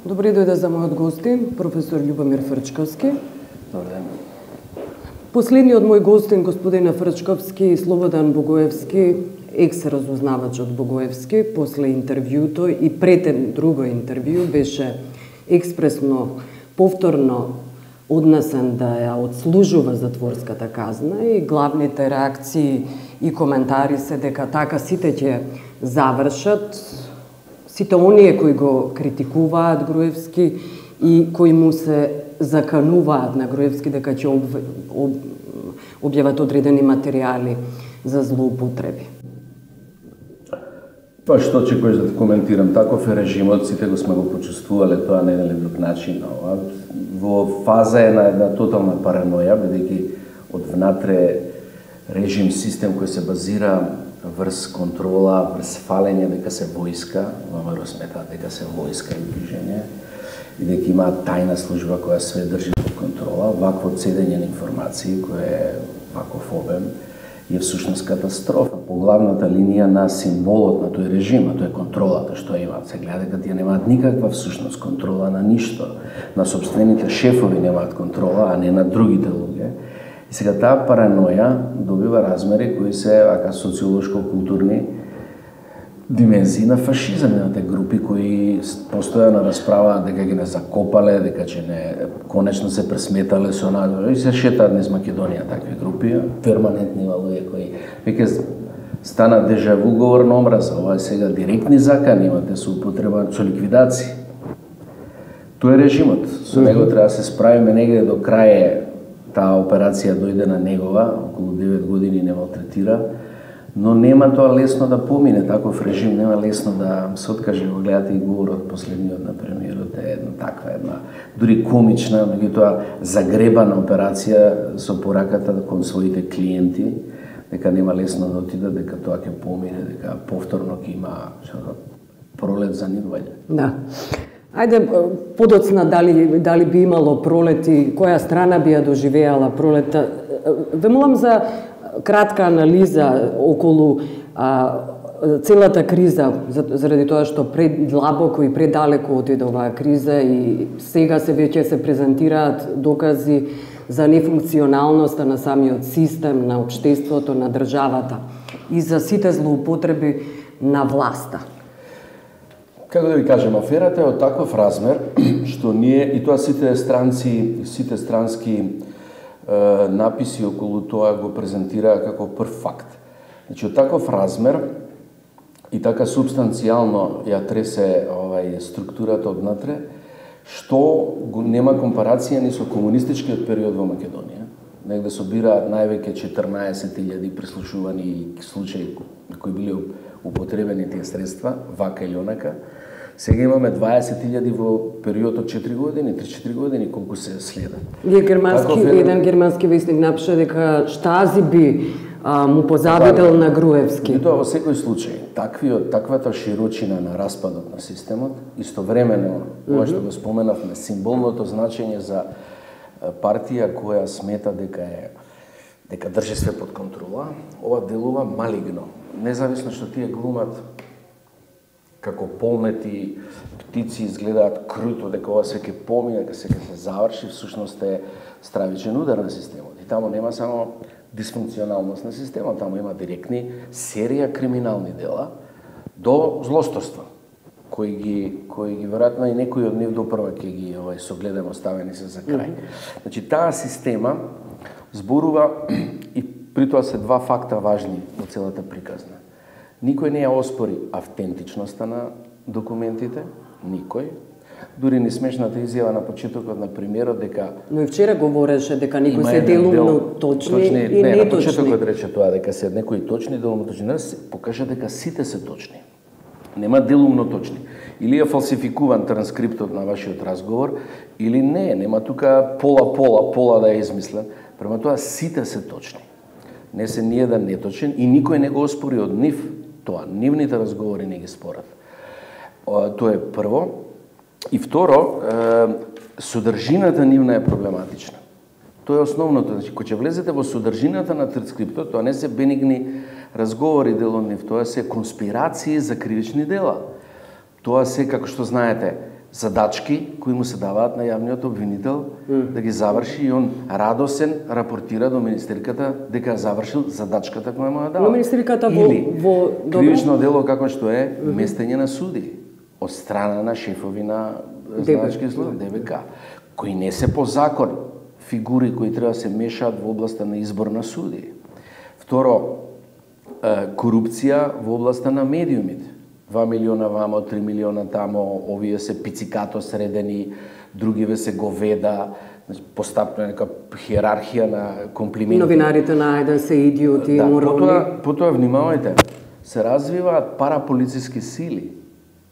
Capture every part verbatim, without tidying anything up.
Добри дојде за мојот гостин, професор Љубомир Фрчковски. Добар ден. Последниот мој гостин, господина Фрчковски, Слободан Богоевски, екс-разузнавач од Богоевски, после интервјуто и пред друго интервју беше експресно, повторно однесен да ја одслужува затворската казна и главните реакции и коментари се дека така сите ќе завршат, сите оние кои го критикуваат Груевски и кои му се закануваат на Груевски дека ќе об, об, објават одредени материјали за злоупотреби. Па што ќе кој да коментирам, таков е режимот, сите го сме го почувствувале тоа на еден или друг начин. Во фаза е на една тотална параноја, бидејќи од внатре режим, систем кој се базира врз контрола, врз фалење дека се војска, ВМРО сметаат дека се војска и движење, и дека има тајна служба која све држи под контрола, вакво цедење на информации кој е ваков обем, е всушност катастрофа по главната линија на символот на тој режим, а тоа е контролата што имаат. Се гледа дека тие немаат никаква всушност контрола на ништо. На собствените шефови немаат контрола, а не на другите луѓе. И сега таа параноја добива размери кои се ака социолошко-културни димензии на фашизам, на те групи кои постојано расправаат дека ги не закопале, дека че не конечно се пресметале со надвор и се шетаат низ Македонија такви групи, перманентни луѓе кои веќе стана дежаву говор на омраза, ова е сега директни закани имате со употреба со ликвидација. Тоа е режимот, со него треба да се справиме негде до крај таа операција дојде на негова, околу девет години не малтретира, но нема тоа лесно да помине, таков режим нема лесно да се откаже. Го гледате и говорот последниот на премиерот е една таква една дури комична, меѓутоа загребана операција со пораката кон своите клиенти, дека нема лесно да отиде, дека тоа ќе помине, дека повторно ќе има пролет за нив ваѓа. Да. Ајде, подоцна дали, дали би имало пролет и која страна би ја доживеала пролета. Вемувам за кратка анализа околу а, целата криза, заради тоа што предлабоко и предалеко отиде оваа криза и сега се веќе се презентираат докази за нефункционалноста на самиот систем, на општеството, на државата и за сите злоупотреби на власта. Како да ви кажем, аферата е од таков размер што ние и тоа сите странци, сите странски е, написи околу тоа го презентираа како прв факт. Значи од таков размер и така субстанцијално ја тресе овај структурата однатре, што го нема компарација ни со комунистичкиот период во Македонија. Негде собираат највеќе четрнаесет илјади прислушувани случаи на кои били употребени тие средства, вака или онака. Сега имаме дваесет илјади во период од четири години, три-четири години, колку се следат. Вие германски, е... еден германски вестник напиша дека Штази би а, му позабител на Груевски. И тоа во секој случај, таквиот, таквата широчина на распадот на системот, истовремено, ова што го споменавме, символното значење за партија која смета дека е дека држи све под контрола, ова делува малигно. Независно што тие глумат како полнети птици, изгледаат круто, дека ова се ќе помине, дека се ќе се заврши, всушност е стравичен удар на системот. И таму нема само дисфункционалност на системот, таму има директни серија криминални дела до злосторства, кои ги кои ги веројатно и некои од нив допрва ќе ги овај согледаме оставени се за крај. Mm -hmm. Значи таа система зборува и при тоа се два факта важни во целата приказна. Никој не ја оспори автентичноста на документите, никој. Дури ни смешната изјава на почетокот на премиерот дека... Но и вчера говореше дека некои се делумно дел, точни, точни и не, неточни. На почетокот рече тоа дека се некои точни, делумно точни. Не се покажа дека сите се точни. Нема делумно точни. Или е фалсификуван транскриптот на вашиот разговор, или не, нема тука пола-пола, пола да е измислен. Према тоа сите се точни. Не се ни еден неточен и никој не го оспори од нив тоа. Нивните разговори не ги спорат. Тоа е прво. И второ, содржината нивна е проблематична. Тоа е основното. Значи, кога ќе влезете во содржината на транскриптот, тоа не се бенигни разговори дел од нив, тоа се конспирации за кривични дела. Тоа се, како што знаете, задачки кои му се даваат на јавниот обвинител mm. да ги заврши и он радосен рапортира до министерката дека завршил задачката која му ја дала. Но министерката во, во кривично дело како што е mm -hmm. местење на суди од страна на шефови на знаначки служби Д Б К, кои не се по закон фигури кои треба да се мешаат во областа на избор на суди. Второ, корупција во областа на медиумите. два милиона вамо, три милиона тамо, овие се пицикато средени, другиве се говеда, постапна нека хиерархија на комплименти. Новинарите на ајде се идиоти, да, морални. Потоа, потоа внимавајте, се развиваат параполициски сили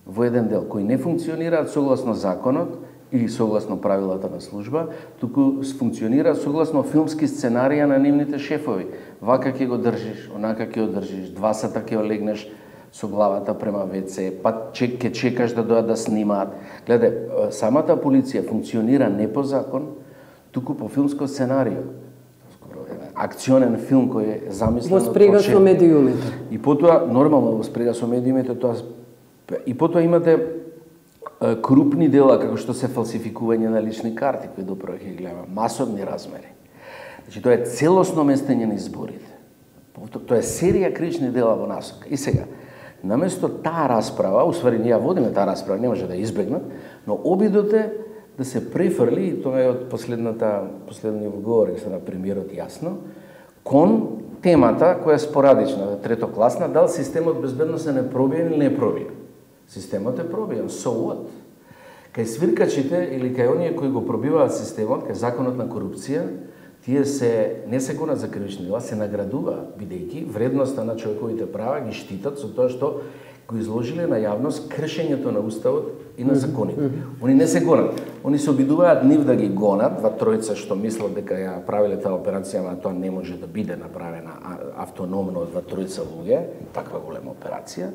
во еден дел, кои не функционираат согласно законот или согласно правилата на служба, туку функционираат согласно филмски сценарија на нивните шефови. Вака ќе го држиш, онака ќе го држиш, два сата ќе олегнеш со главата према ве це, па чек, ќе чекаш да дојдат да снимаат. Гледај, самата полиција функционира не по закон, туку по филмско сценарио. Акционен филм кој е замислен во спрега со медиумите. И потоа нормално во спрега со медиумите тоа и потоа имате крупни дела како што се фалсификување на лични карти кои допро ќе гледаме, масовни размери. Значи тоа е целосно местење на изборите. Тоа е серија кривични дела во насока. И сега, наместо таа расправа, усвари ние водиме таа расправа, не може да избегнат, но обидот е да се префрли, и тоа е од последната последниот говор што на премиерот јасно, кон темата која е спорадична, третокласна, дали системот безбедност е непробиен или не е пробиен. Системот е пробиен, so what? Кај свиркачите или кај оние кои го пробиваат системот, кај законот на корупција, тие се не се гонат за кривични дела, се наградуваат, бидејќи вредноста на човековите права ги штитат со тоа што го изложиле на јавност кршењето на уставот и на законите. Mm -hmm. Они не се гонат. Они се обидуваат нив да ги гонат, два тројца што мислат дека ја правиле таа операција, ама тоа не може да биде направена автономно од два тројца луѓе, таква голема операција.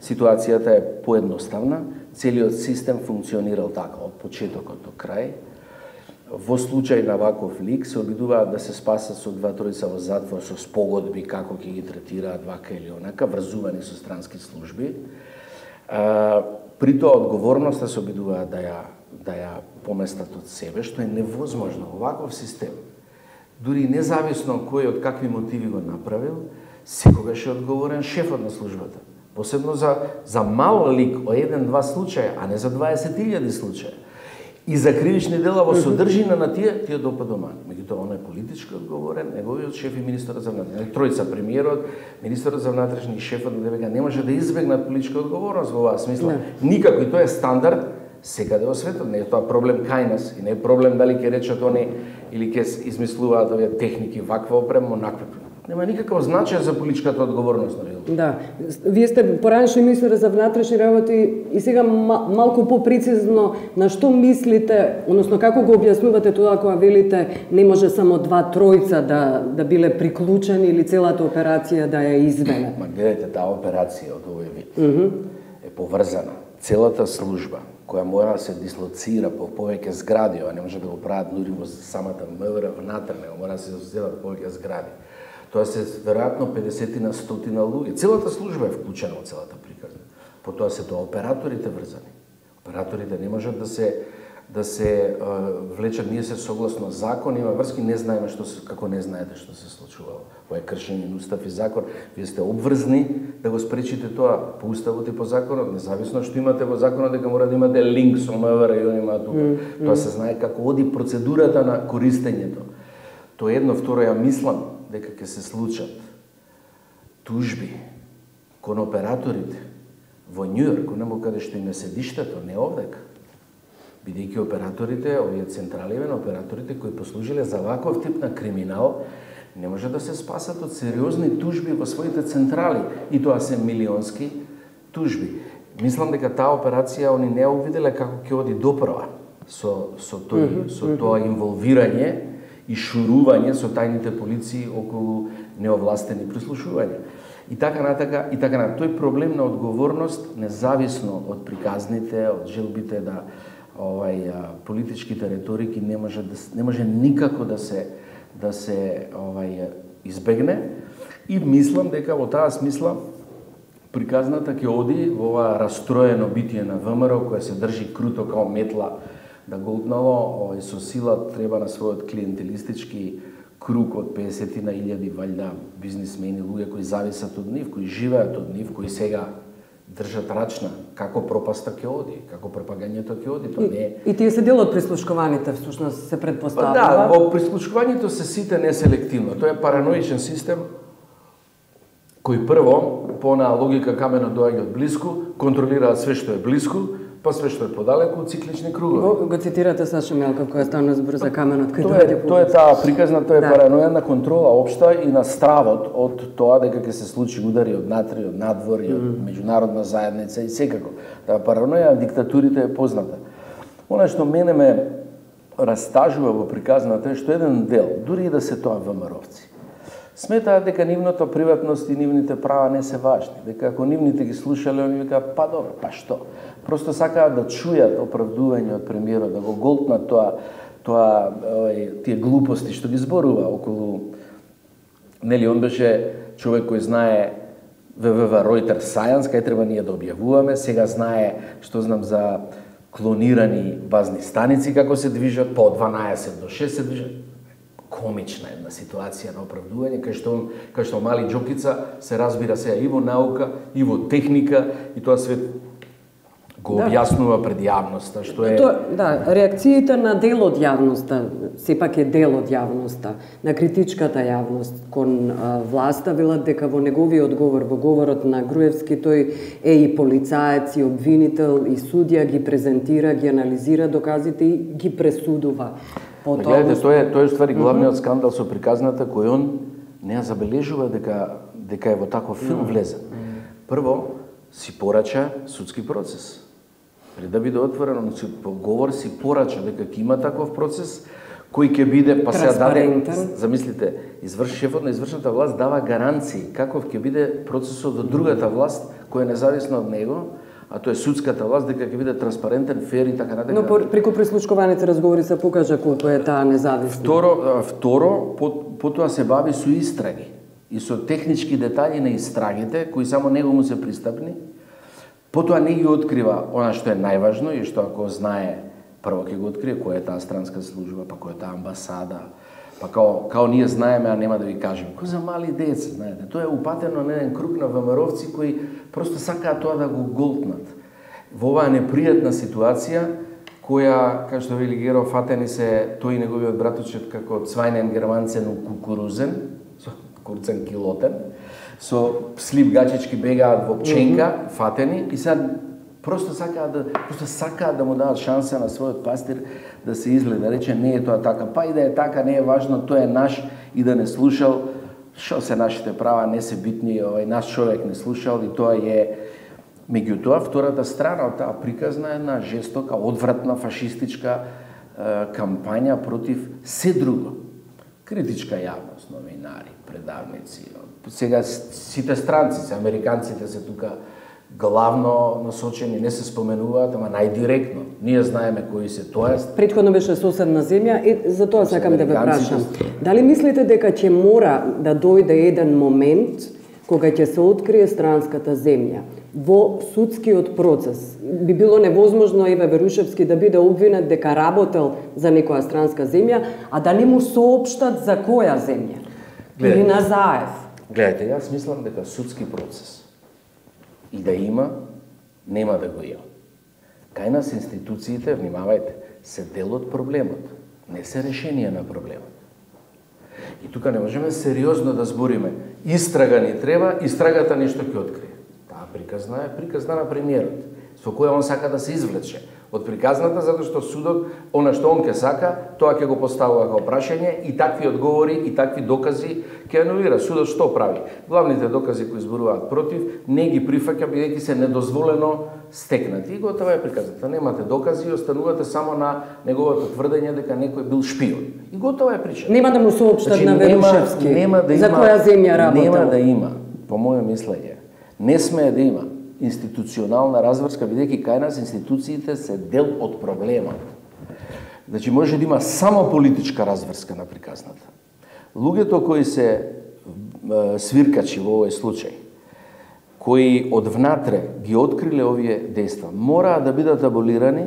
Ситуацијата е поедноставна, целиот систем функционирал така од почетокот до крај. Во случај на ваков лик се обидуваат да се спасат со два тројца во затвор со спогодби како ќе ги третираат вака или онака, врзувани со странски служби. А, при тоа одговорноста се обидуваат да ја да ја поместат од себе, што е невозможно во ваков систем. Дури независно кој од какви мотиви го направил, секогаш е одговорен шефот на службата. Посебно за за мал лик о еден-два случаја, а не за дваесет илјади случаи. И за кривични дела во содржина на тие, тие допадомани. Меѓутоа, он е политички одговорен, неговиот шеф и министерот за внатрешни, тројца, премиерот, министерот за внатрешни и шефот на Д Б К не може да избегнат политичка одговорност во оваа смисла. Не. Никако, и тоа е стандард секаде во светот. Не е тоа проблем кај нас и не е проблем дали ќе речат они или ќе измислуваат овие техники ваква опрема, онаква. Нема никаков значај за политичката одговорност, нали? Да. Вие сте поранешни министер за внатрешни работи и сега малку попрецизно на што мислите, односно како го објаснувате тоа кога велите не може само два тројца да да биле приклучени или целата операција да ја изведе? Ма гледате, таа операција од овој вид mm -hmm. е поврзана. Целата служба која мора да се дислоцира по повеќе згради, а не може да го прават дури во самата МВР внатре, мора да се создадат повеќе згради. Тоа се веројатно педесет на стотина луѓе. Целата служба е вклучена во целата приказна. Потоа се тоа операторите врзани. Операторите не можат да се да се uh, влечат, ние се согласно закон, има врски, не знаеме што се, како не знаете што се случувало. Ова е кршење на устав и закон. Вие сте обврзни да го спречите тоа по уставот и по законот, независно што имате во законот дека мора да имате линк со МВР и они имаат тука. Mm, mm. Тоа се знае како оди процедурата на користењето. Тоа едно, второ, ја мислам дека ќе се случат тужби кон операторите во Њујорк, онаму каде што им е седиштето, не овдека. Бидејќи операторите, овие централиви на операторите кои послужиле за ваков тип на криминал, не може да се спасат од сериозни тужби во своите централи, и тоа се милионски тужби. Мислам дека таа операција они не ја увиделе како ќе оди доправа со со тој mm -hmm. со тоа инволвирање и шурување со тајните полиции околу неовластени прислушувања. И така натака, и така натака. Тој проблем на одговорност, независно од приказните, од желбите да овај политичките реторики не може да не може никако да се да се овај избегне, и мислам дека во таа смисла приказната ќе оди во ова растроено битие на ВМРО, која се држи круто као метла да голтнало, и со сила треба на својот клиентелистички круг од песет на илјади валјда бизнисмени, луѓе кои зависат од нив, кои живеат од нив, кои сега држат рачна како пропаста ќе оди, како пропагањето ќе оди, тоа не е. И тие се дел од прислушкуваните, всушност се предпоставува. Да, во прислушкувањето се сите неселективно. Тоа е параноичен систем кој прво, по на логика камено доаѓа од блиску, контролираат све што е блиску, па све што е подалеку, циклични кругови. Го, го цитирате Саша Мелков, која стана збор за каменот кој тоа е, тоа е таа приказна, тоа е да. паранојна контрола општа и на стравот од тоа дека ќе се случи удари од натри, од надвор и од mm. меѓународна заедница и секако. Таа параноја на диктатурите е позната. Она што мене ме растажува во приказната е што еден дел, дури и да се тоа ВМРО-вци, сметаат дека нивната приватност и нивните права не се важни, дека ако нивните ги слушале, они викаат, па добро, па што? Просто сакаат да чујат оправдување од премиерот, да го голтнат тоа, тоа, ој, тие глупости што ги зборува околу, нели, он беше човек кој знае вэ вэ вэ Reuters Science, кај треба ние да објавуваме, сега знае што знам за клонирани базни станици како се движат, по дванаесет до шест се движат. Комична една ситуација на оправдување, кај што, кај што мали Џокица се разбира сега и во наука, и во техника, и тоа све го објаснува пред јавноста, што е... То, да, реакциите на дел од јавноста, сепак е дел од јавноста, на критичката јавност кон а, власта, велат дека во неговиот говор, во говорот на Груевски, тој е и полицаец, и обвинител, и судија, ги презентира, ги анализира доказите и ги пресудува. Гледате, тоа е, тоа е ствари главниот mm -hmm. скандал со приказната кој он не ја забележува дека дека е во таков филм влезен. Mm -hmm. Прво си порача судски процес. Пред да биде отворен, он си по говор си порача дека ќе има таков процес кој ќе биде па се даде, замислите, изврш шефот на извршната власт дава гаранции каков ќе биде процесот од другата власт која е независна од него, а тоа е судската власт, дека ќе биде транспарентен, фер и така натаму. Но преку прислушкуваните разговори се покажа колку е таа независна. Второ, второ потоа се бави со истраги и со технички детали на истрагите кои само него му се пристапни. Потоа не ги открива она што е најважно и што ако знае, прво ќе го открие која е таа странска служба, па која е таа амбасада, па као, као ние знаеме, а нема да ви кажем. Кој за мали деца, знаете, тоа е упатено на еден круг на ВМРО-вци кои просто сакаат тоа да го голтнат. Во оваа непријатна ситуација, која, како што вели Геро, фатени се тој и неговиот братучет како цвајнен германцен у кукурузен, со курцен килотен, со слип гачички бегаат во пченка, mm -hmm. фатени, и сега просто сакаат да, просто сакаат да му дадат шанса на својот пастир да се изгледа, да рече не е тоа така, па и да е така, не е важно, тоа е наш и да не слушал, што се нашите права, не се битни, овај наш човек не слушал и тоа е. Меѓутоа, втората страна од таа приказна е една жестока, одвратна, фашистичка е, кампања против се друго. Критичка јавност, новинари, предавници, сега сите странци, американците се тука главно насочени, не се споменуваат, ама најдиректно. Ние знаеме кои се тоа. Претходно беше соседна земја и за тоа сакам да ве прашам. Дали мислите дека ќе мора да дојде еден момент кога ќе се открие странската земја во судскиот процес? Би било невозможно Еве Верушевски да биде обвинет дека работел за некоја странска земја, а да не му соопштат за која земја? Или назаев? Гледайте, јас мислам дека судски процес и да има, нема да го има. Кај нас институциите, внимавајте, се дел од проблемот, не се решение на проблемот. И тука не можеме сериозно да збориме. Истрага ни треба, истрагата нешто ќе открие. Таа приказна е приказна на премиерот, со која он сака да се извлече од приказната, затоа што судот, она што он ќе сака, тоа ќе го поставува како прашање и такви одговори и такви докази ќе анулира. Судот што прави? Главните докази кои зборуваат против, не ги прифаќа бидејќи се недозволено стекнати. И готова е приказната. Немате докази и останувате само на неговото тврдење дека некој бил шпион. И готова е причина. Нема да му соопштат значи, на Верушевски нема, нема да за има, која земја работел. Нема да има, по моје мислење, не смее да има институционална разврска, бидејќи кај нас институциите се дел од проблемот. Значи може да има само политичка разврска на приказната. Луѓето кои се свиркачи во овој случај, кои од внатре ги откриле овие дејства, мораа да бидат аболирани,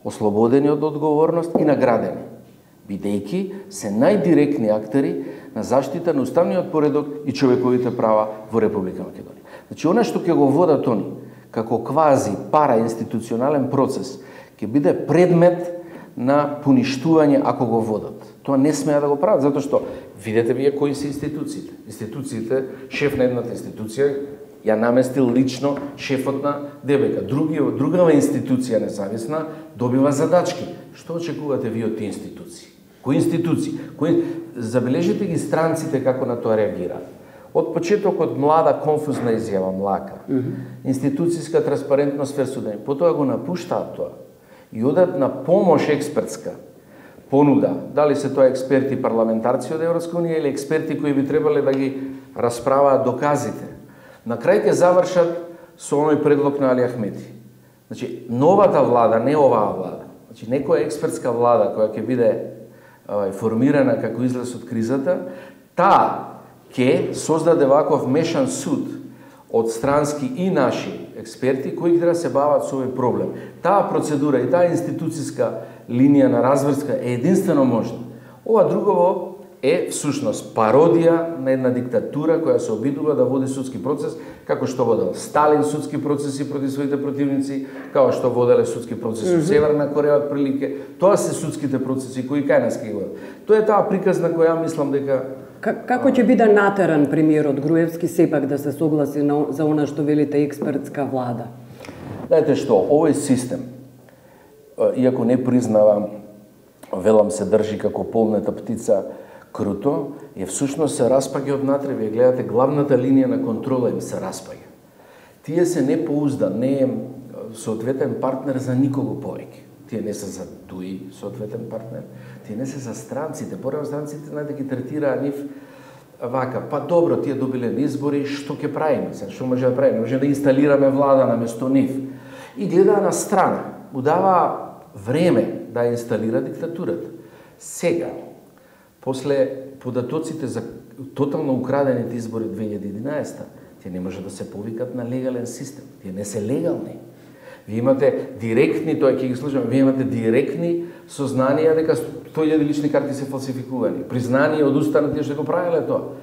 ослободени од одговорност и наградени, бидејќи се најдиректни актери на заштита на уставниот поредок и човековите права во Република Македонија. Значи, она што ќе го водат они, како квази параинституционален процес, ќе биде предмет на поништување ако го водат. Тоа не смеа да го прават, затоа што видете вие кои се институциите. Институциите, шеф на едната институција ја наместил лично шефот на ДБК. Други, другава институција независна добива задачки. Што очекувате вие од тие институции? Кои институции? Кои... Забележите ги странците како на тоа реагираат. Од почетокот млада конфузна изјава, млака, mm -hmm. институцијска транспарентност ферсудени, потоа го напуштаат тоа и одат на помош експертска понуда, дали се тоа експерти парламентарци од Европска унија или експерти кои би требале да ги расправаат доказите. На крај ќе завршат со оној предлог на Али Ахмети. Значи, новата влада, не оваа влада, значи некоја експертска влада која ќе биде авај, формирана како излез од кризата, таа ќе создаде ваков мешан суд од странски и наши експерти кои ќе да се бават со овој проблем. Таа процедура и таа институцијска линија на разврска е единствено можна. Ова другово е всушност пародија на една диктатура која се обидува да води судски процес, како што водел Сталин судски процеси против своите противници, како што воделе судски процеси во Северна Кореја од прилike. Тоа се судските процеси кои кај нас ќе водат. Тоа е таа приказна која мислам дека Како ќе биде натеран премиерот Груевски сепак да се согласи на, за она што велите експертска влада? Знаете што, овој систем, иако не признавам, велам се држи како полнета птица круто, е всушност се распаѓа од натре. Вие гледате, главната линија на контрола им се распаѓа. Тие се не поуздан, не е соодветен партнер за никого повеќе. Тие не се за туи соодветен партнер, тие не се за странците. Порано странците најде ги третираа нив вака, па добро, тие добиле на избори, што ќе правиме? Што може да правиме? Може да инсталираме влада наместо нив. И гледаа на страна, му дава време да инсталира диктатурата. Сега, после податоците за тотално украдените избори две илјади и единаесета, тие не може да се повикат на легален систем. Тие не се легални. Вие имате директни, тоа ќе ги слушаме, вие имате директни сознанија дека сто илјади лични карти се фалсификувани. Признание од уста на тие што го правеле тоа.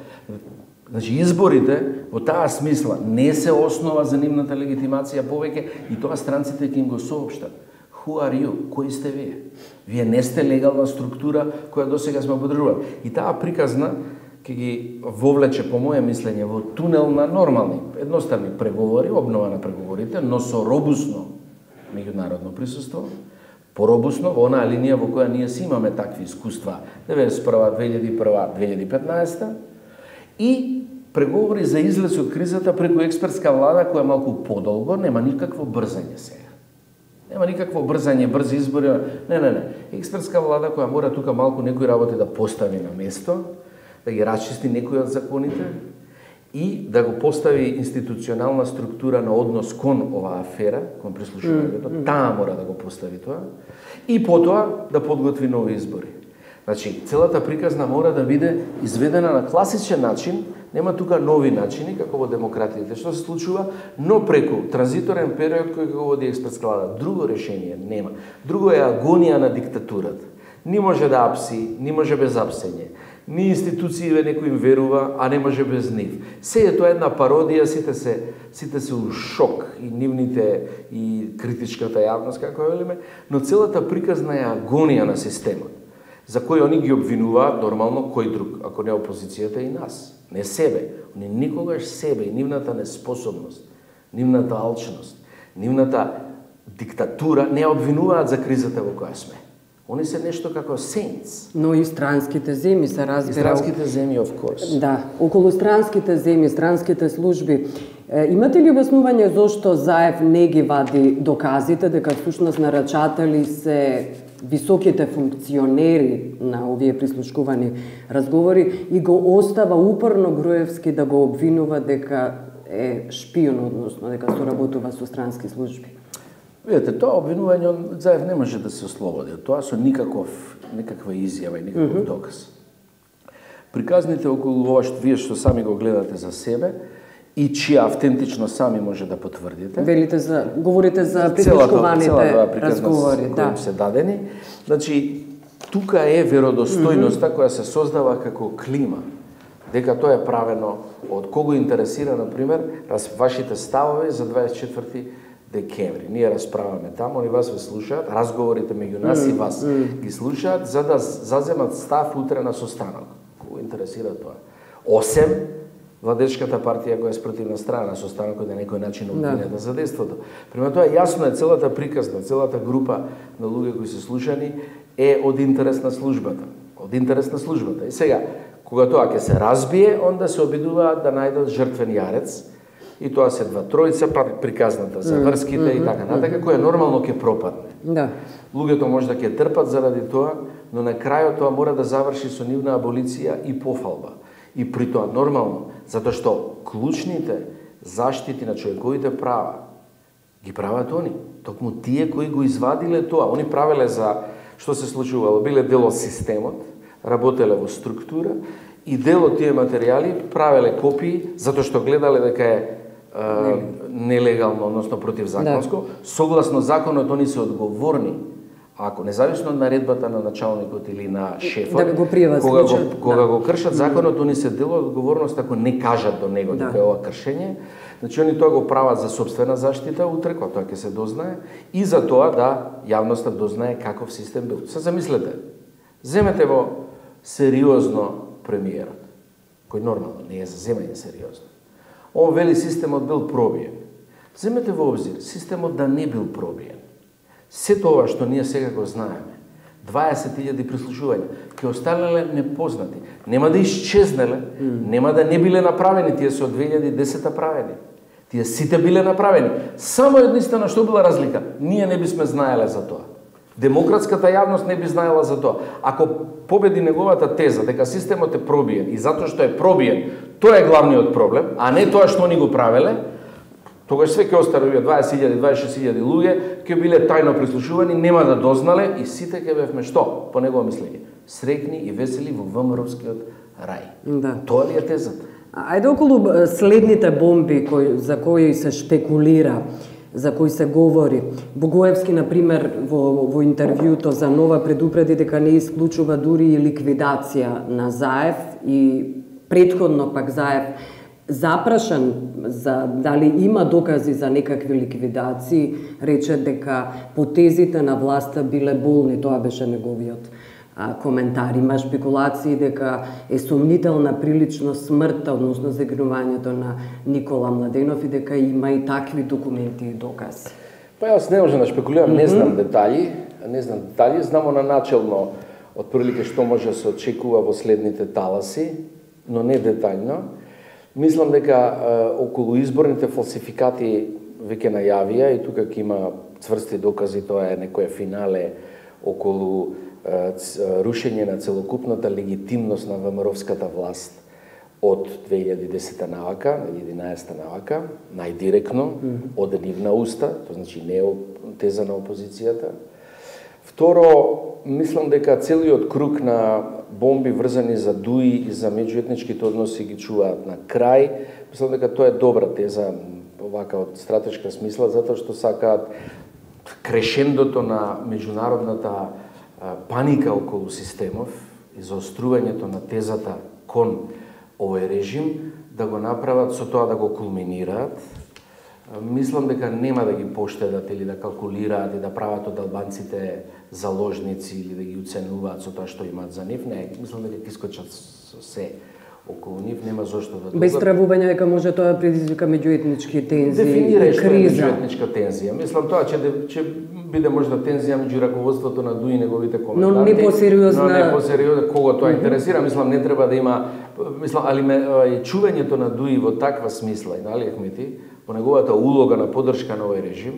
Значи, изборите, во таа смисла, не се основа за нивната легитимација повеќе и тоа странците ќе им го соопштат. Who are you? Кои сте вие? Вие не сте легална структура која досега сме подржували. И таа приказна ќе ги вовлече, по моје мислење, во тунел на нормални, едноставни преговори, обнова на преговорите, но со робусно меѓународно присуство, поробусно во онаа линија во која ние си имаме такви искуства деветдесет и прва, две илјади и прва, две илјади и петнаесета и преговори за излез од кризата преку експертска влада која малку подолго, нема никакво брзање сега. Нема никакво брзање, брзи избори. Не, не, не. Експертска влада која мора тука малку некои работи да постави на место, да ги расчисти некои од законите и да го постави институционална структура на однос кон оваа афера, кон прислушувањето, mm, mm. таа мора да го постави тоа и потоа да подготви нови избори. Значи, целата приказна мора да биде изведена на класичен начин, нема тука нови начини, како во демократиите, што се случува, но преку транзиторен период кој го води експертска влада. Друго решение нема. Друго е агонија на диктатурата. Ни може да апси, ни може без апсење. Ни институциите некој им верува, а не може без нив. Се е тоа една пародија, сите се, сите се у шок, и нивните, и критичката јавност, како велиме, но целата приказна е агонија на системот, за кој они ги обвинуваат нормално кој друг, ако не опозицијата и нас. Не себе. Они никогаш себе и нивната неспособност, нивната алчност, нивната диктатура не обвинуваат за кризата во која сме. Они се нешто како saints. Но и странските земји се разбира. И странските земји, of course. Да, околу странските земји, странските служби. Е, имате ли објаснување зошто Заев не ги вади доказите дека всушност нарачатели се високите функционери на овие прислушкувани разговори и го остава упорно Груевски да го обвинува дека е шпион, односно дека соработува со странски служби? Видете, тоа обвинување Заев не може да се ослободи. Тоа со никаков, никаква изјава и никаков mm -hmm. доказ. Приказните околу ова што вие што сами го гледате за себе и чија автентично сами може да потврдите. Велите за, говорите за притичкуваните разговори, да, кои се дадени. Значи, тука е веродостојноста mm -hmm. која се создава како клима. Дека тоа е правено од кого интересира, например, раз вашите ставови за дваесет и четврти декември. Ние расправаме таму, они вас ве слушаат, разговорите меѓу нас mm -hmm. и вас ги слушаат за да заземат став утре на состанок. Кого интересира тоа? Осем владечката партија која е спротивна страна на состанокот на некој начин обвинета да. за действото. Према тоа јасно е целата приказна, целата група на луѓе кои се слушани е од интерес на службата. Од интерес на службата. И сега, кога тоа ќе се разбие, онда се обидуваат да најдат жртвен јарец, и тоа се два тројца, приказната за врските mm -hmm. и така натака, која нормално ќе пропадне. Да. Луѓето може да ќе трпат заради тоа, но на крајот тоа мора да заврши со нивна аболиција и пофалба. И при тоа нормално, затоа што клучните заштити на човековите права ги прават они. Токму тие кои го извадиле тоа, они правеле за што се случувало, биле дел од системот, работеле во структура и дел од тие материјали правеле копии затоа што гледале дека е е нелегално, односно противзаконско. Да. Согласно законот они се одговорни. Ако независно од наредбата на началникот или на шефот, да го пријават кога, го, случај, кога да. го кршат законот, они се дел од одговорност ако не кажат до него да. дека е ова кршење. Значи они тоа го прават за собствена заштита утре, кога тоа ќе се дознае, и за тоа да јавноста дознае каков систем бил. Се замислете, земете во сериозно премиерот, кој нормално не е за земање сериозно. Он вели системот бил пробиен. Земете во обзир, системот да не бил пробиен. Се тоа што ние сега го знаеме, дваесет илјади прислушувања, ќе останале непознати. Нема да исчезнеле, mm. нема да не биле направени, тие се од две илјади и десета правени. Тие сите биле направени. Само единствено што била разлика, ние не бисме знаеле за тоа. Демократската јавност не би знаела за тоа. Ако победи неговата теза дека системот е пробиен и затоа што е пробиен, тоа е главниот проблем, а не тоа што они го правеле, тогаш све ќе останат дваесет илјади, дваесет и шест илјади луѓе, ќе биле тајно прислушувани, нема да дознале и сите ќе бевме што, по негово мислење, среќни и весели во ВМРО-вскиот рај. Да. Тоа ли е тезата? Ајде околу следните бомби кои, за кои се шпекулира, за кои се говори. Богоевски, например, во, во интервјуто за Нова предупреди дека не исклучува дури и ликвидација на Заев и претходно пак Заев запрашан за дали има докази за некакви ликвидации, рече дека потезите на власта биле болни, тоа беше неговиот а, коментар. Има шпекулации дека е сомнителна прилично смртта, односно загинувањето на Никола Младенов и дека има и такви документи и докази. Па јас не можам да шпекулирам, не знам детали, не знам детали, знамо на начелно отприлike што може да се очекува во следните таласи, но не детаljно. Мислам дека е, околу изборните фалсификати веќе најавија и тука ќе има цврсти докази, тоа е некое финале околу е, рушење на целокупната легитимност на ВМРО-вската власт од две илјади и десета навака, или единаесета навака, најдиректно, mm -hmm. од нивна уста, тоа значи не е теза на опозицијата. Второ, мислам дека целиот круг на бомби врзани за дуи и за меѓуетничките односи ги чуваат на крај. Мислам дека тоа е добра теза, овака од стратешка смисла, затоа што сакаат крешендото на меѓународната паника околу системов и заострувањето на тезата кон овој режим, да го направат со тоа да го кулминираат. Мислам дека нема да ги поштедат или да калкулираат и да прават од албанците заложници или да ги уценуваат со тоа што имаат за нив. Не, мислам дека ќе искочат со се околу нив, нема зошто да дугат. Без стравување дека може тоа да предизвика меѓуетнички тензии и Дефинирај што е криза. меѓуетничка тензија. Мислам тоа ќе ќе биде можда тензија меѓу раководството на ДУИ и неговите коменданти. Но не посериозна. Но не посериозна, кого тоа интересира. Мислам не треба да има, мислам, али ме, чувањето на ДУИ во таква смисла и на Али Ахмети, по неговата улога на поддршка на овој режим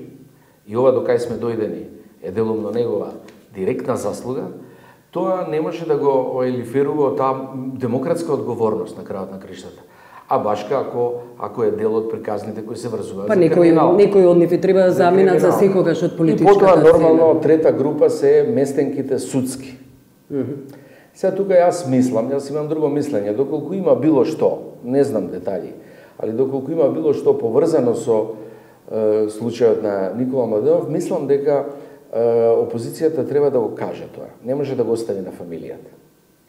и ова до кај сме дојдени е делумно негова директна заслуга, тоа не може да го елиферува таа демократска одговорност на крајот на криштата. А башка ако ако е дел од приказните кои се врзуваат па, за некој, криминал. некој од нив треба да заминат за секогаш од политичката сцена. И потоа нормално сцена. трета група се местенките судски. Mm -hmm. Сега тука јас мислам, јас имам друго мислење, доколку има било што, не знам детали, али доколку има било што поврзано со е, случајот на Никола Младенов, мислам дека е, опозицијата треба да го каже тоа. Не може да го остави на фамилијата.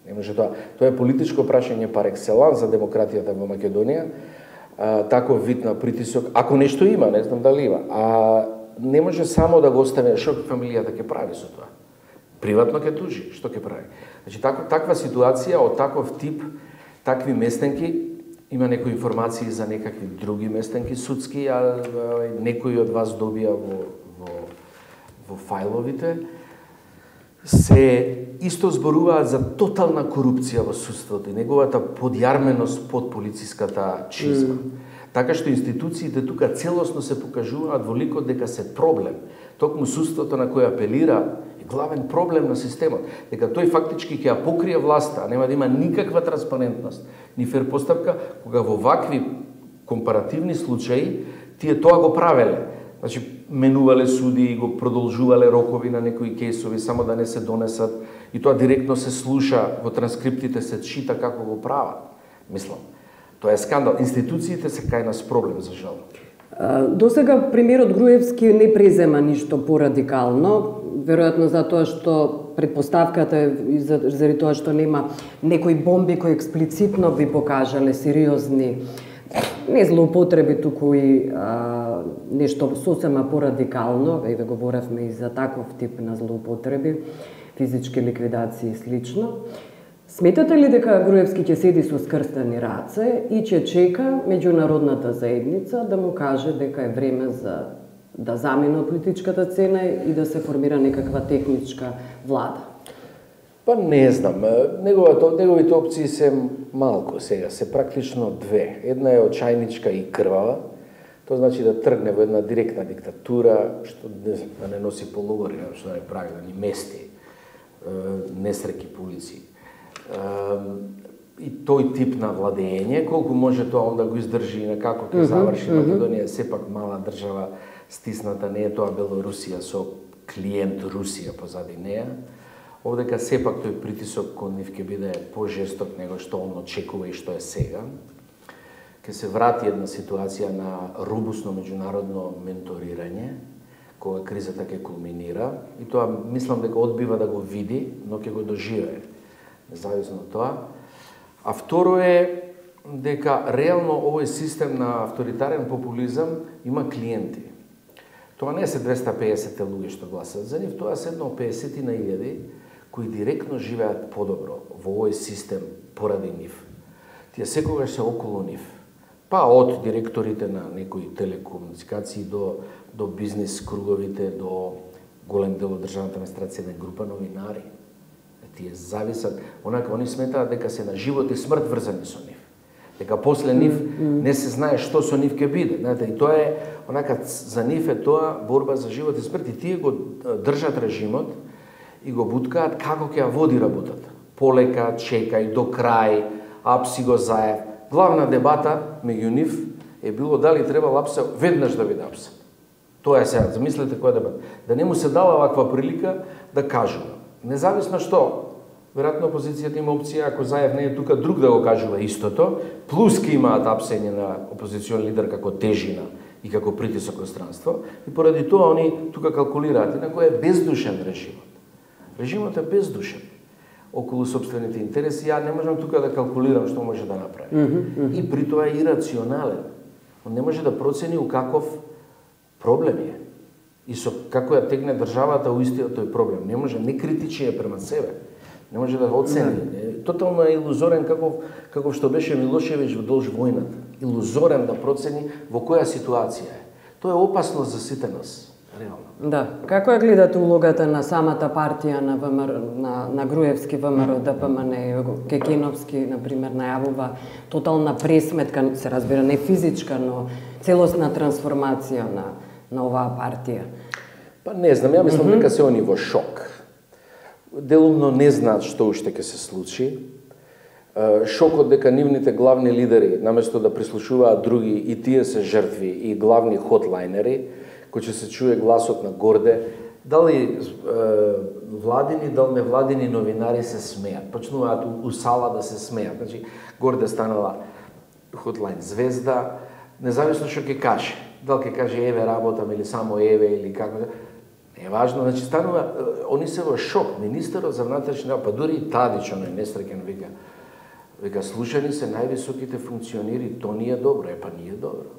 Не може тоа. Тоа е политичко прашање пар екселанс за демократијата во Македонија. А, таков вид на притисок, ако нешто има, не знам дали има, а не може само да го остави, што фамилијата ќе прави со тоа. Приватно ќе тужи, што ќе прави. Значи, тако, таква ситуација од таков тип, такви местенки, има некои информации за некакви други местенки судски, а некои од вас добија во, во, во фајловите, се исто зборуваат за тотална корупција во судството и неговата подјарменост под полициската чизма. Mm. Така што институциите тука целосно се покажуваат во ликот дека се проблем. Токму судството на кој апелира е главен проблем на системот. Дека тој фактички ќе ја покрие власта, а нема да има никаква транспарентност, ни фер постапка, кога во вакви компаративни случаи тие тоа го правеле. Значи, менувале суди и го продолжувале рокови на некои кейсови, само да не се донесат. И тоа директно се слуша, во транскриптите се чита како го прават. Мислам, тоа е скандал. Институциите се кај нас проблем, за жал. До сега премиерот Груевски не презема ништо порадикално, веројатно затоа што предпоставката е заради тоа што нема некои бомби кои експлицитно би покажале сериозни не злоупотреби, туку и а, нешто сосема порадикално, еве говоревме и за таков тип на злоупотреби, физички ликвидации и слично. Сметате ли дека Груевски ќе седи со скрстени раце и ќе чека меѓународната заедница да му каже дека е време за да замине од политичката цена и да се формира некаква техничка влада? Па не знам, неговата, неговите опции се малку сега, се практично две. Една е очајничка и крвава, тоа значи да тргне во една директна диктатура, што не, да не носи полугори, што да не прави, да ни мести несреки по улици. И тој тип на владење, колку може тоа онда го издржи и на како ќе заврши Македонија, сепак мала држава стисната, не е тоа Белорусија со клиент Русија позади неја. Овдека сепак тој притисок кон нив ќе биде пожесток него што он очекува и што е сега. Ке се врати една ситуација на робусно меѓународно менторирање, кога кризата ќе кулминира, и тоа мислам дека одбива да го види, но ќе го доживее, независно од тоа. А второ е дека реално овој систем на авторитарен популизам има клиенти. Тоа не се двеста и педесет луѓе што гласат за нив, тоа се едно педесетина илјади кои директно живеат подобро во овој систем поради нив. Тие секогаш се околу нив. Па од директорите на некои телекомуникации до, до бизнес круговите, до голем дел од државната администрација на група новинари. Тие зависат, онака они сметаат дека се на живот и смрт врзани со нив. Дека после нив не се знае што со нив ќе биде. Знаете, и тоа е, онака, за нив е тоа борба за живот и смрт. И тие го држат режимот и го буткаат како ќе ја води работата. Полека, чекај, до крај, апси го заев. Главна дебата меѓу нив е било дали треба апса веднаш да биде апса. Тоа е сега, замислете која дебата. Да не му се дала ваква прилика да кажува. Независно што, веројатно опозицијата има опција, ако Заев не е тука, друг да го кажува истото, плюс ке имаат апсење на опозицион лидер како тежина и како притисок од странство, и поради тоа они тука калкулираат, инако е бездушен режимот. Режимот е бездушен околу собствените интереси. Ја не можам тука да калкулирам што може да направи. Mm -hmm. И при тоа е ирационален. Он не може да процени у каков проблем е. И со како ја тегне државата у истиот тој проблем. Не може, не критичи е према себе. Не може да го оцени. Mm. Тотално е илузорен каков, каков што беше Милошевиќ во долж војната. Илузорен да процени во која ситуација е. Тоа е опасно за сите нас. Реално. Да. Како ја гледате улогата на самата партија на ВМРО, на, на Груевски ВМРО, ДПМН, Кекеновски, например, најавува тотална пресметка, се разбира, не физичка, но целосна трансформација на, на оваа партија? Па не знам, ја мислам mm -hmm. дека се они во шок. Делумно не знаат што уште ќе се случи. Шокот дека нивните главни лидери, наместо да прислушуваат други, и тие се жртви и главни хотлайнери, кој ќе се чуе гласот на горде, дали е, владини, дали невладини новинари се смеат, почнуваат у, у сала да се смеат. Значи, горде станала Hotline Звезда, независно што ќе каже. Дали ќе каже еве работам или само еве или како. Не е важно, значи станува, они се во шок. Министерот за внатрешни работи, па дури и Тадич, оној несреќен вика, вика слушани се највисоките функционери, то не е добро, е па не е добро.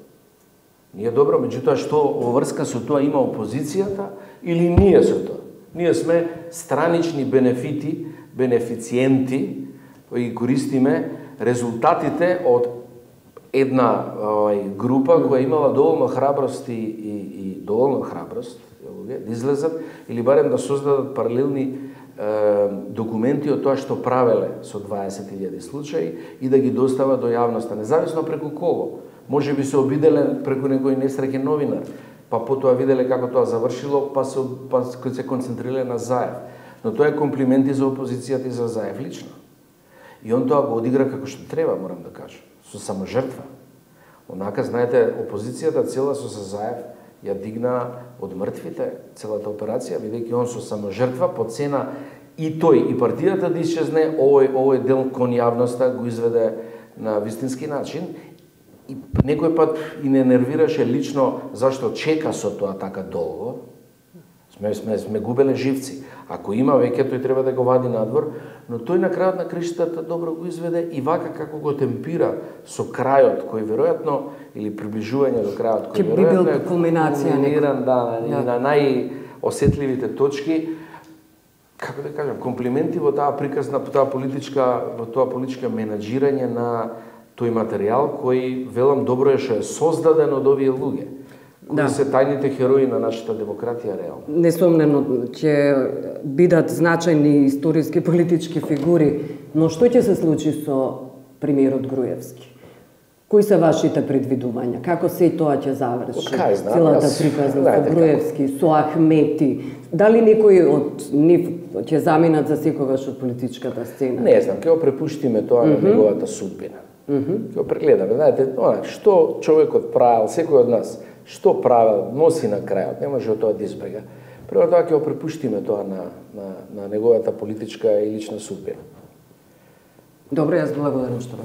Не е добро, меѓутоа што во врска со тоа има опозицијата или ние со тоа? Ние сме странични бенефити, бенефициенти, кои користиме резултатите од една овај група која имала доволно храброст и, и, и доволно храброст да излезат или барем да создадат паралелни е, документи од тоа што правеле со дваесет илјади случаи и да ги достават до јавноста, независно преку кого. Може би се обиделе преку некој несреќен новинар, па потоа виделе како тоа завршило, па се, па се концентрирале на Заев. Но тоа е комплименти за опозицијата и за Заев лично. И он тоа го одигра како што треба, морам да кажам, со саможртва. Онака, знаете, опозицијата цела со Заев ја дигна од мртвите целата операција, бидејќи он со саможртва по цена и тој и партијата да исчезне, овој овој дел кон јавноста го изведе на вистински начин. И некој пат и не нервираше лично зашто чека со тоа така долго. Сме, сме, сме губеле живци. Ако има веќе, тој треба да го вади надвор, но тој на крајот на криштата добро го изведе и вака како го темпира со крајот, кој веројатно, или приближување до крајот, кој веројатно е кулминација кулминиран, да, да. на најосетливите точки. Како да кажам, комплименти во таа приказна, во таа политичка, во тоа политичка менаџирање на тој материјал кој велам добро е што е создаден од овие луѓе. Кои да. се тајните херои на нашата демократија реално. Несомнено ќе бидат значајни историски политички фигури, но што ќе се случи со премиерот Груевски? Кои се вашите предвидувања? Како се тоа ќе заврши? Целата приказна со Груевски, со Ахмети. Дали некои од нив ќе заминат за секогаш од политичката сцена? Не знам, ќе го препуштиме тоа mm -hmm. на неговата судбина. Mm -hmm. Ќе го прегледаме. Знаете, што човекот правил, секој од нас, што правил, носи на крајот, не може од тоа да избега. Прво тоа ќе го препуштиме тоа на, на, на неговата политичка и лична судбина. Добро, јас благодарам што